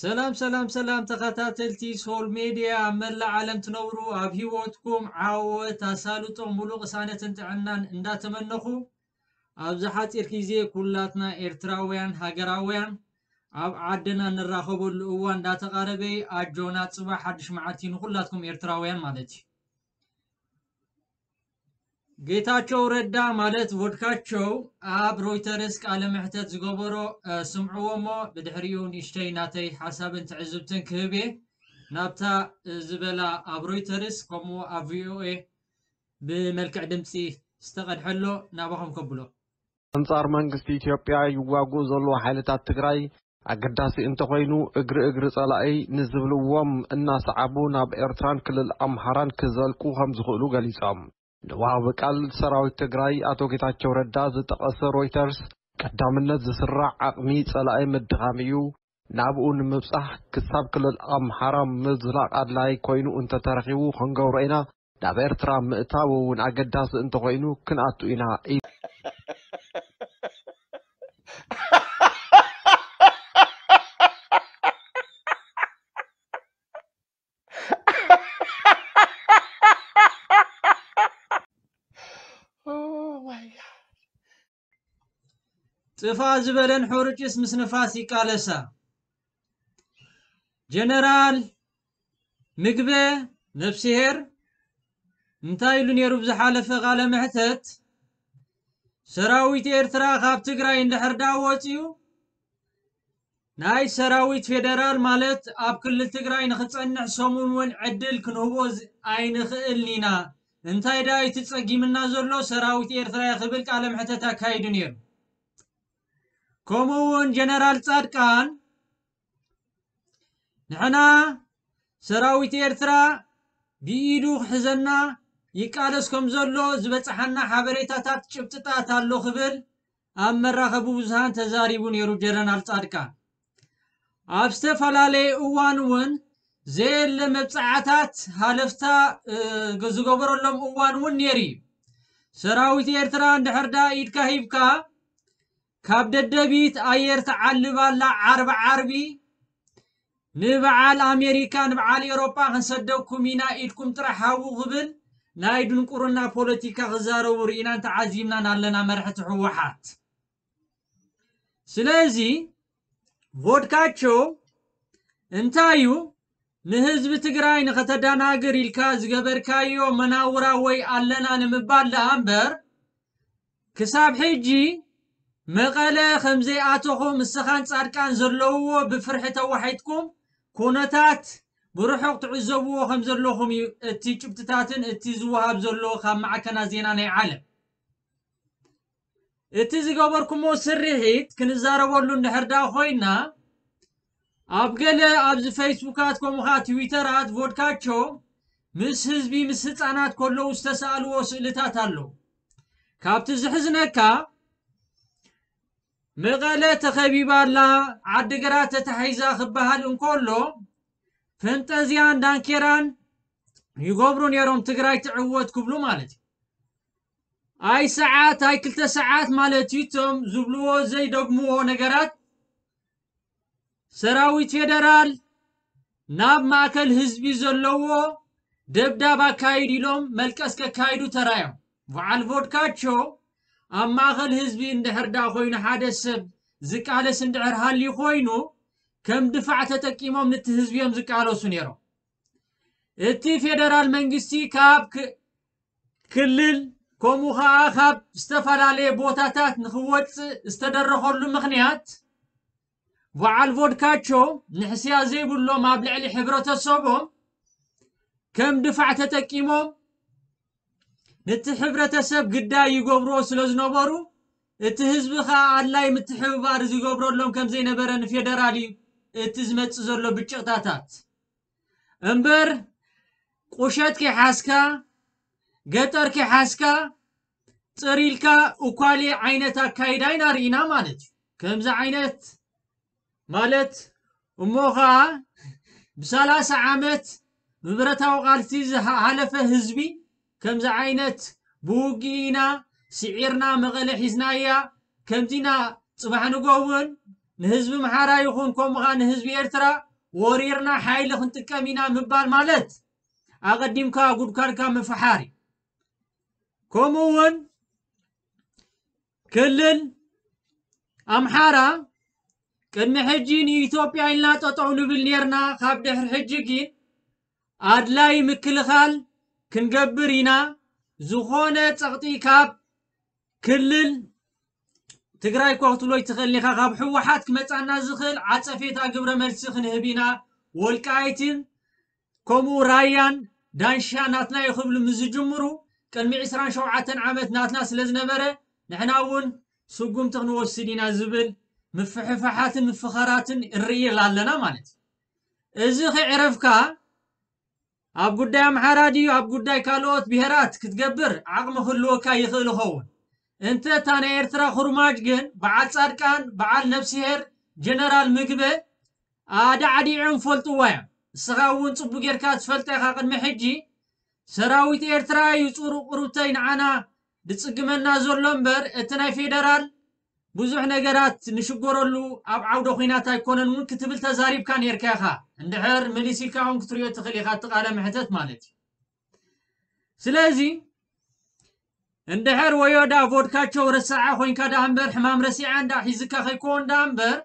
ሰላም ሰላም ሰላም ተኸታተልቲ ሶል ሜድያ ኣብ መላእ ዓለም ትነብሩ ኣብ ህይወትኩም ዓወት ኣሳልጦ ሙሉእ ቅሳነትን ጥዕናን እንዳተመነኹ ኣብዚ ሓፂር ግዜ ኩላትና ኤርትራውያን ሃገራውያን ኣብ ዓድና ንራኸበሉ እዋን እንዳተቓረበ ኣጆና ጽባሕ ሓድሽ መዓልቲ ንኹላትኩም ኤርትራውያን ማለት እዩ። ጌታቸው ረዳ ማለት ቮድካቸው ኣብ ሮይተርስ ቃለ መሕተት ዝገበሮ ስምዕዎ እሞ ብድሕሪኡ ንእሽተይ ናተይ ሓሳብን ትዕዝብትን ክህብ እየ ናብታ ዝበላ ኣብ ሮይተርስ ከምኡ ኣብ ቪኦኤ ብመልክዕ ድምፂ ዝተቐድሐሎ ናባኹም ከብሎ። ኣንጻር መንግስቲ ኢትዮጵያ ይዋግኡ ዘለዉ ሓይልታት ትግራይ ኣገዳሲ እንተኾይኑ እግሪ እግሪ ጸላኢ ንዝብልዎም እናሰዓቡ ናብ ኤርትራን ክልል ኣምሓራን ክዘልቁ ከም ዝኽእሉ ገሊጾም። ንወሃቢ ቃል ሰራዊት ትግራይ ኣቶ ጌታቸው ረዳ ዝጠቐሰ ሮይተርስ ቀዳምነት ዝስራዕ ዓቕሚ ጸላኢ ምድኻም እዩ። ናብኡ ንምብጻሕ ክሳብ ክልል ኣምሓራ ምዝላቕ ኣድላይ ኮይኑ እንተተረኺቡ ክንገብሮ ኢና። ናብ ኤርትራ ምእታው እውን ኣገዳሲ እንተኾይኑ ክንኣቱ ኢና ኢሉ። ጥፋእ ዝበለን ሕሩጭስ ምስ ንፋስ ይቃለሳ። ጀነራል ምግበ ነፍስሄር እንታይ ኢሉ ነይሩ ብዝሓለፈ ቃለ መሕተት? ሰራዊት ኤርትራ ካብ ትግራይ እንድሕር ዳ ወፅዩ ናይ ሰራዊት ፌደራል ማለት ኣብ ክልል ትግራይ ንክፀንሕ ሰሙን እውን ዕድል ክንህቦ ኣይንኽእልን ኢና። እንታይ ዳ እቲ ፀጊምና ዘሎ ሰራዊት ኤርትራ ክብል ቃለ መሕተት ኣካይዱ ነይሩ። ከምኡ እውን ጀነራል ፃድቃን ንሕና ሰራዊት ኤርትራ ብኢዱ ክሕዘና ይቃለስ ከም ዘሎ ዝበፅሓና ሓበሬታታት ጭብጥታት ኣሎ ክብል ኣብ መራኸቢ ብዙሃን ተዛሪቡ ነይሩ ጀነራል ፃድቃን። ኣብ ዝተፈላለየ እዋን እውን ዘየለ መብፅዓታት ሃለፍታ ዝገበረሎም እዋን እውን ነይሩ እዩ። ሰራዊት ኤርትራ እንድሕር ዳ ኢድካ ሂብካ ካብ ደደቢት ኣየር ትዓልብ ኣላ ዓርቢ ዓርቢ ንበዓል ኣሜሪካ ንበዓል ኤሮጳ ክንሰደኩም ኢና ኢድኩም ጥራሕ ሃቡ ክብል ናይ ድንቁርና ፖለቲካ ክዛረቡ ርኢናን ተዓዚብናን ኣለና መራሕቲ ህወሓት። ስለዚ ቮድካቸው እንታይ እዩ ንህዝቢ ትግራይ ንኸተደናግር ኢልካ ዝገበርካዮ መናውራ ወይ ኣለና ንምባል ደኣ እምበር ክሳብ ሕጂ መቐለ ከም ዘይኣተኹም ንስኻን ፃድቃን ዘለውዎ ብፍርሒ ተዋሒጥኩም ኩነታት ብርሑቕ ትዕዘብዎ ከም ዘለኹም እዩ እቲ ጭብጥታትን እቲ ዝወሃብ ዘሎ ካብ ማዕከናት ዜና ናይ ዓለም። እቲ ዝገበርኩሞ ስርሒት ክንዛረበሉ እንድሕር ዳ ኮይና ኣብ ገለ ኣብዚ ፌስቡካት ከምኡ ከዓ ትዊተራት ቮድካቸው ምስ ህዝቢ ምስ ህፃናት ከለዉ ዝተሰኣልዎ ስእልታት ኣለዉ። ካብቲ ዝሕዝነካ መቐለ ተኸቢባ ኣላ ዓድግራት ተታሒዛ ክበሃል እንከሎ ፈንጠዝያን ዳንኬራን ይገብሩ ነይሮም ትግራይ ትዕወት ክብሉ ማለት እዩ። ኣይ ሰዓት ኣይ ክልተ ሰዓት ማለት እዩ እቶም ዝብልዎ ዘይደግምዎ ነገራት ሰራዊት ፌደራል ናብ ማእከል ህዝቢ ዘለዎ ደብዳብ ኣካይድ ኢሎም መልቀስ ከካይዱ ተራዮም። በዓል ቮድካቸው ኣብ ማእከል ህዝቢ እንድሕር ዳ ኮይኑ ሓደ ሰብ ዝቃለስ እንድሕር ሃልዩ ኮይኑ ከም ድፋዕ ተጠቂሞም ንቲ ህዝቢ እዮም ዝቃለሱ ነይሮም። እቲ ፌደራል መንግስቲ ካብ ክልል ከምኡ ከዓ ካብ ዝተፈላለየ ቦታታት ንክወፅእ ዝተደረኸሉ ምክንያት በዓል ቮድካቸው ንሕስያ ዘይብሎም ኣብ ልዕሊ ሕብረተሰቦም ከም ድፋዕ ተጠቂሞም ነቲ ሕብረተሰብ ግዳይ ይገብርዎ ስለ ዝነበሩ እቲ ህዝቢ ከዓ ኣድላይ ምትሕብባር ዝገብረሎም ከም ዘይነበረ ንፌደራል እዩ እቲ ዝመፅእ ዘሎ ብጭቕታታት እምበር ቁሸት ከይሓዝካ ገጠር ከይሓዝካ ፅር ኢልካ እኳሌ ዓይነት ኣካይዳ ኢና ርኢና ማለት እዩ። ከምዚ ዓይነት ማለት እሞ ከዓ ብሰላሳ ዓመት ብብረታዊ ቃልሲ ዝሃለፈ ህዝቢ ከምዚ ዓይነት ብውግእ ኢና ስዒርና መቐለ ሒዝናያ ከምዚና ፅባሕ ንጎ እውን ንህዝቢ ምሓራ ይኹን ከምኡ ከዓ ንህዝቢ ኤርትራ ወሪርና ሓይሊ ክንጥቀም ኢና ምባል ማለት ኣቐዲምካ ጉድጓድካ ምፍሓር እዩ። ከምኡ እውን ክልል ኣምሓራ ቅድሚ ሕጂ ንኢትዮጵያ ኢልና ጠጠው ንብል ኔርና፣ ካብ ድሕሪ ሕጂ ግን ኣድላይ ምክልኻል ክንገብር ኢና። ዝኾነ ጸቕጢ ካብ ክልል ትግራይ እኳ ክትብሎ ይትኽእል ኢኻ። ካብ ህወሓት ክመጻና ዝኽእል ዓጸፌታ ግብረ መልሲ ክንህብ ኢና። ወልቃይትን ከምኡ ራያን ዳንሻ ናትና እዩ ክብሉ ምስ ዝጅምሩ ቅድሚ ዕስራን ሸውዓተን ዓመት ናትና ስለ ዝነበረ ንሕና እውን ስጉምቲ ክንወስድ ኢና ዝብል ምፍሕፋሓትን ምፍኸራትን ንርኢ ኣለና ማለት እዩ። እዚ ከይዕረፍካ ኣብ ጉዳይ ኣምሓራ ድዩ ኣብ ጉዳይ ካልኦት ብሄራት ክትገብር ዓቕሚ ክህልወካ ይኽእል ይኸውን። እንተ እታ ናይ ኤርትራ ኩርማጅ ግን በዓል ጻድቃን፣ በዓል ነብስሄር፣ ጀነራል ምግበ ኣዳዕዲዖም ፈልጥዋ እዮም። ንስኻ እውን ጽቡቅ ጌርካ ትፈልጣ ኢኻ። ቅድሚ ሕጂ ሰራዊት ኤርትራ እዩ ጹሩ ቁሩብተይ ንዓና ድጽግመና ዘሎ እምበር እቲ ናይ ፌደራል ብዙሕ ነገራት ንሽገረሉ ኣብ ዓውደ ኹናት ኣይኮነን እውን ክትብል ተዛሪብካ ኔርካ ኢኻ። እንድሕር መሊስ ኢልካ እውን ክትሪኦ ትኽእል ኢኻ እቲ ቃለ መሕተት ማለት እዩ። ስለዚ እንድሕር ወዮ ዳ ቮድካቸው ረሳዓ ኮይንካ ዳ እምበር ሕማም ረሲዓ እንዳ ሒዝካ ከይኮን ዳ እምበር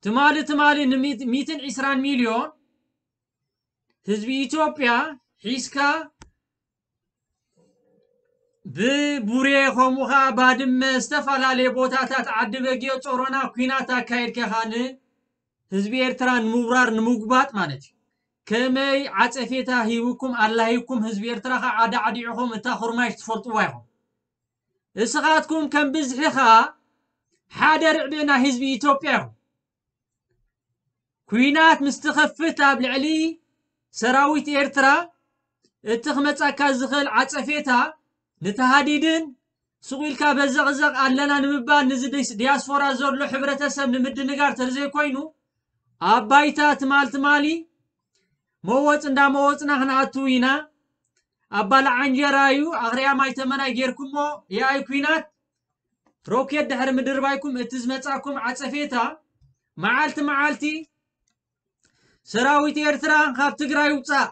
ትማሊ ትማሊ ንሚትን ዕስራን ሚልዮን ህዝቢ ኢትዮጵያ ሒዝካ ብቡሬ ከምኡ ኸዓ ባድመ ዝተፈላለየ ቦታታት ዓዲ በጊዮ ጾሮና ኲናት ኣካየድካ ኢኻ ንህዝቢ ኤርትራ ንምውራር ንምጉባጥ ማለት እዩ። ከመይ ዓጸፌታ ሂብኩም ኣላሂብኩም ህዝቢ ኤርትራ ኸዓ ኣዳዕዲዕኹም እታ ኹርማሽ ትፈልጥዋ ኢኹም። እስኻትኩም ከም ብዝሒ ኸዓ ሓደ ርዕቢ ናይ ህዝቢ ኢትዮጵያ ኢኹም። ኲናት ምስ ትኸፍት ኣብ ልዕሊ ሰራዊት ኤርትራ እቲ ክመጻካ ዝኽእል ዓጸፌታ ንተሃዲድን ሱቕ ኢልካ በዘቕዘቕ ኣለና ንምባል ንዚ ዲስ- ዲያስፖራ ዘሎ ሕብረተሰብ ንምድንጋር ተዘይኮይኑ ኣብ ባይታ ትማል ትማሊ መወጽ እንዳ መወጽና ክንኣቱ ኢና። ኣባላ ዓንጀራ እዩ ኣኽርያ ማይ ተመናይ ጌርኩሞ የኣይ ኲናት ሮኬት ድሕሪ ምድርባይኩም እቲ ዝመጻኩም ዓጸፌታ መዓልቲ መዓልቲ ሰራዊት ኤርትራ ካብ ትግራይ ውጻእ።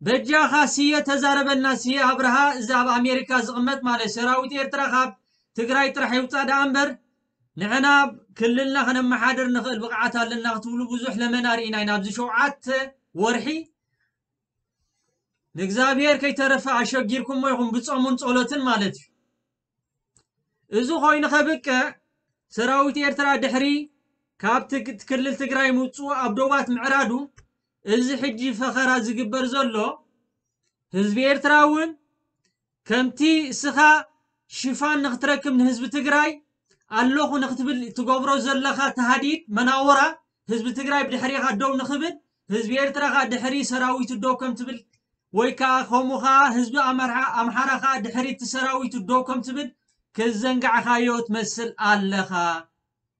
በጃኻ ስየ ተዛረበልና፣ ስየ ኣብርሃ፣ እዚ ኣብ ኣሜሪካ ዝቕመጥ ማለት ሰራዊት ኤርትራ ካብ ትግራይ ጥራሕ ይውጻእ ደኣ እምበር ንሕና ክልልና ከነመሓድር ንኽእል ብቕዓት ኣለና ክትብሉ ብዙሕ ለመና ርኢና ኢና። ኣብዚ ሸውዓተ ወርሒ ንእግዚኣብሔር ከይተረፈ ኣሸጊርኩሞ ኢኹም ብጾሙን ጸሎትን ማለት እዩ። እዚ ኮይኑ ከብቅዕ ሰራዊት ኤርትራ ድሕሪ ካብ ትግ- ክልል ትግራይ ምውፅኡ ኣብ ዶባት ምዕራዱ እዚ ሕጂ ፈኸራ ዝግበር ዘሎ ህዝቢ ኤርትራ እውን ከምቲ እስኻ ሽፋን ንክትረክብ ንህዝቢ ትግራይ ኣለኹ ንክትብል ትገብሮ ዘለኻ ተሃዲድ መናወራ ህዝቢ ትግራይ ብድሕሪኻ ደው ንክብል ህዝቢ ኤርትራ ኸዓ ድሕሪ ሰራዊቱ ደው ከም ትብል ወይ ከዓ ከምኡ ኸዓ ህዝቢ ኣምሓራ ኣምሓራ ኸዓ ድሕሪ እቲ ሰራዊቱ ደው ከም ትብል ክዘንጋዕኻዮ ትመስል ኣለኻ።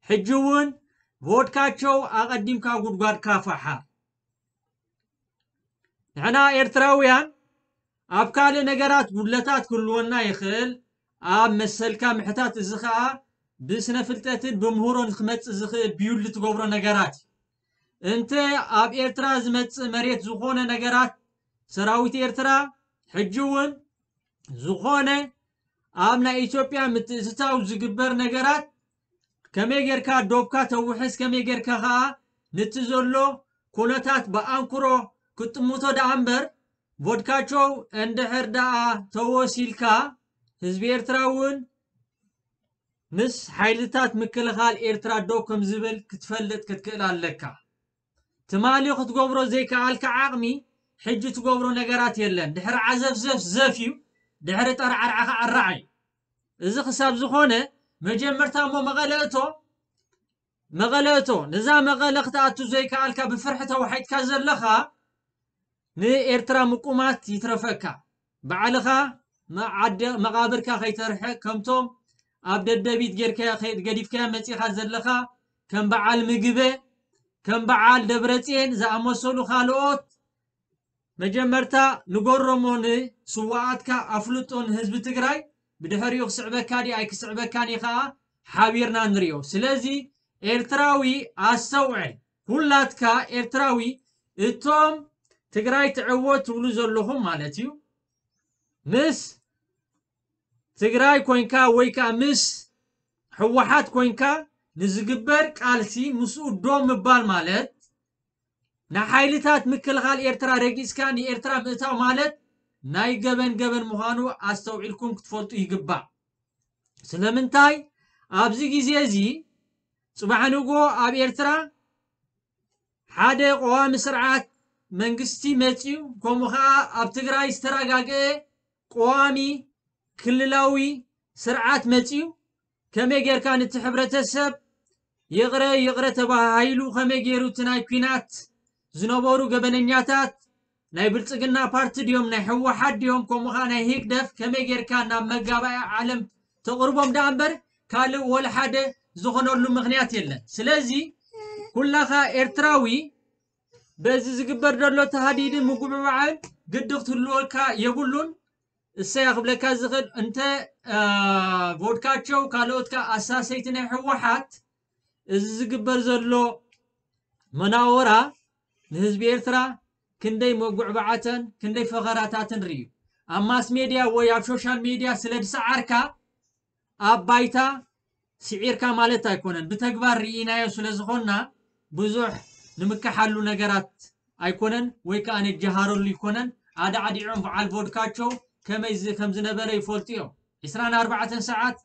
ሕጂ እውን ቮድካቸው ኣቐዲምካ ጉድጓድካ ፋሓር። ንሕና ኤርትራውያን ኣብ ካልእ ነገራት ጉድለታት ክህልወና ይኽእል፣ ኣብ መሰልካ ምሕታት፣ እዚ ኸኣ ብስነ ፍልጠትን ብምህሮን ክመጽእ ዝኽእል ብዩል ትገብሮ ነገራት እዩ። እንተ ኣብ ኤርትራ ዝመጽእ መሬት ዝኾነ ነገራት ሰራዊት ኤርትራ ሕጂ እውን ዝኾነ ኣብ ናይ ኢትዮጵያ ምትእትታው ዝግበር ነገራት ከመይ ጌርካ ዶብካ ተውሕስ፣ ከመይ ጌርካ ኸኣ ነቲ ዘሎ ኩነታት ብኣንክሮ ክትጥምቶ ደኣ እምበር፣ ቮድካቸው እንድሕር ደኣ ተወሲልካ፣ ህዝቢ ኤርትራ እውን ምስ ሓይልታት ምክልኻል ኤርትራ ደው ከም ዝብል ክትፈልጥ ክትክእል ኣለካ። ትማሊ ክትገብሮ ዘይከኣልካ ዓቕሚ፣ ሕጂ ትገብሮ ነገራት የለን። ድሕሪ ዓዘፍ ዘፍ ዘፍ እዩ፣ ድሕሪ ጠርዓርዓ ኸዓ ኣራዕ እዩ። እዚ ክሳብ ዝኾነ፣ መጀመርታ እሞ መቐለ እቶ፣ መቐለ እቶ። ነዛ መቐለ ክትኣቱ ዘይከኣልካ፣ ብፍርሒ ተዋሒጥካ ዘለኻ፣ ንኤርትራ ምቁማት ይትረፈካ። ባዕልኻ መዓደ-፣ መቓብርካ ከይተርሕቕ፣ ከምቶም ኣብ ደደቢት ጌርካያ ከይድ-፣ ገዲፍካያ መጺኻ ዘለኻ፣ ከም በዓል ምግበ፣ ከም በዓል ደብረጽዮን ዝኣመሰሉ ካልኦት፣ መጀመርታ ንገሮሞ ንስዋኣትካ ኣፍልጦ ንህዝቢ ትግራይ፣ ብድሕሪኡ ክስዕበካ ድዩ ኣይክስዕበካን እዩ ኸኣ ሓቢርና ንሪኦ። ስለዚ ኤርትራዊ ኣስተውዕል። ኩላትካ ኤርትራዊ እቶም ትግራይ ትዕወት ትብሉ ዘለኹም ማለት እዩ ምስ ትግራይ ኮይንካ ወይ ከዓ ምስ ህወሓት ኮይንካ ንዝግበር ቃልሲ ምስኡ ዶ ምባል ማለት ንሓይልታት ምክልኻል ኤርትራ ረጊጽካ ንኤርትራ ምእታው ማለት ናይ ገበን ገበን ምዃኑ ኣስተውዒልኩም ክትፈልጡ ይግባእ። ስለምንታይ ኣብዚ ግዜ እዚ ጽባሕ ንግሆ ኣብ ኤርትራ ሓደ ቀዋሚ ስርዓት መንግስቲ መጽዩ፣ ከምኡ ኸዓ ኣብ ትግራይ ዝተረጋግአ ቀዋሚ ክልላዊ ስርዓት መጽዩ፣ ከመይ ጌርካ ነቲ ሕብረተሰብ ይቕረ ይቕረ ተባሃሂሉ፣ ከመይ ገይሩ እቲ ናይ ኲናት ዝነበሩ ገበነኛታት ናይ ብልጽግና ፓርቲ ድዮም፣ ናይ ህወሓት ድዮም፣ ከምኡ ኸዓ ናይ ህግደፍ፣ ከመይ ጌርካ ናብ መጋባእያ ዓለም ተቕርቦም ደኣ እምበር ካልእ ወላ ሓደ ዝኾነሉ ምኽንያት የለን። ስለዚ ኩላኻ ኤርትራዊ በዚ ዝግበር ዘሎ ተሃዲድን ምጉብባዕን ግዲ ክትህልወካ የብሉን። እሰያ ክብለካ ዝኽእል እንተ ቮድካቸው ካልኦት ከኣ ኣሳሰይቲ ናይ ህወሓት እዚ ዝግበር ዘሎ መናወራ ንህዝቢ ኤርትራ ክንደይ መጉዕባዓተን ክንደይ ፈኸራታትን ርእዩ። ኣብ ማስ ሜድያ ወይ ኣብ ሶሻል ሜድያ ስለ ዝሰዓርካ ኣብ ባይታ ስዒርካ ማለት ኣይኮነን። ብተግባር ርኢናዮ ስለ ዝኾንና ብዙሕ ንምክሓሉ ነገራት ኣይኮነን ወይ ከዓ ንጀሃረሉ ኣይኮነን። ኣዳዕዲዖም በዓል ቮድካቸው ከመይ ዝ-፣ ከም ዝነበረ ይፈልጡ እዮም። ዕስራን ኣርባዕተን ሰዓት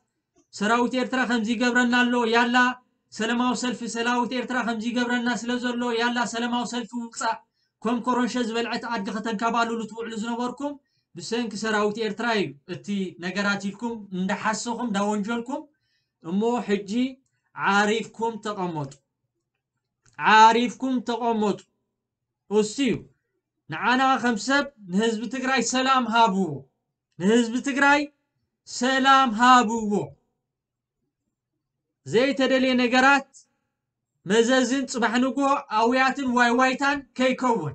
ሰራዊት ኤርትራ ከምዚ ይገብረና ኣሎ፣ ያላ ሰላማዊ ሰልፊ፣ ሰራዊት ኤርትራ ከምዚ ይገብረና ስለ ዘሎ ያላ ሰላማዊ ሰልፊ ውጻእ፣ ከም ኮረንሸ ዝበልዐት ኣድጊ ከተንከባልሉ ትውዕሉ ዝነበርኩም ብሰንኪ ሰራዊት ኤርትራ እዩ እቲ ነገራት ኢልኩም እንዳሓሰኹም እንዳወንጀልኩም እሞ ሕጂ ዓሪፍኩም ተቐመጡ። ዓሪፍኩም ተቐመጡ። እሱ እዩ ንዓና ከም ሰብ ንህዝቢ ትግራይ ሰላም ሃብዎ። ንህዝቢ ትግራይ ሰላም ሃብዎ። ዘይተደልየ ነገራት መዘዝን ጽባሕ ንግሆ ኣውያትን ዋይዋይታን ከይከውን።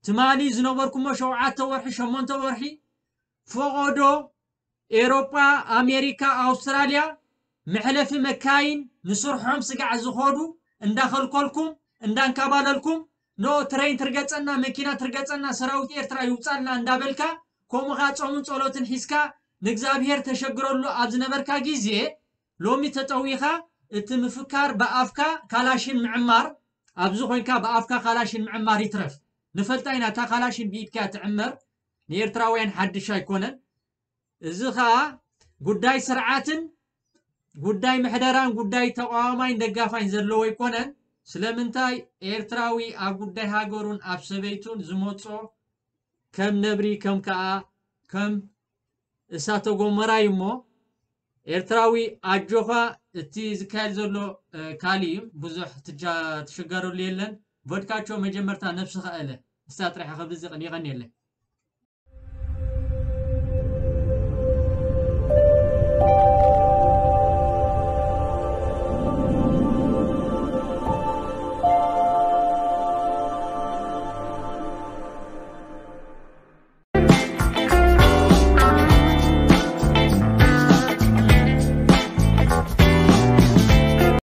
ትማሊ ዝነበርኩሞ ሸውዓተ ወርሒ፣ ሸሞንተ ወርሒ ፈቐዶ ኤሮጳ፣ ኣሜሪካ፣ ኣውስትራልያ መሕለፊ መካይን ንስርሖም ስጋዕ ዝኸዱ እንዳኸልከልኩም፣ እንዳንካባለልኩም፣ ኖ ትሬን ትርገጸና፣ መኪና ትርገጸና፣ ሰራዊት ኤርትራ ይውጻልና እንዳበልካ፣ ከምኡ ኸኣ ጾምን ጸሎትን ሒዝካ ንእግዚኣብሔር ተሸግረሉ ኣብ ዝነበርካ ግዜ፣ ሎሚ ተጠዊኻ እቲ ምፍካር ብኣፍካ ካላሽን ምዕማር፣ ኣብዚ ኮይንካ ብኣፍካ ካላሽን ምዕማር ይትረፍ። ንፈልጣ ኢና፣ እታ ካላሽን ብኢድካ እያ ትዕመር፣ ንኤርትራውያን ሓድሽ ኣይኮነን። እዚ ኸኣ ጉዳይ ስርዓትን ጉዳይ ምሕደራን ጉዳይ ተቃዋማይን ደጋፋይን ዘለዎ ኣይኮነን። ስለምንታይ ኤርትራዊ ኣብ ጉዳይ ሃገሩን ኣብ ሰበይቱን ዝመጾ ከም ነብሪ፣ ከም ከኣ ከም እሳተ ጎመራ እዩ እሞ፣ ኤርትራዊ ኣጆኻ፣ እቲ ዝካየድ ዘሎ፣ እ፣ ካልእ እዩ። ብዙሕ ትጃ-፣ ትሽገረሉ የለን። ቮድካቸው መጀመርታ ነብስኻ እለ። እስታ ጥራሕ ክብል ዝቕን የቐንየለይ።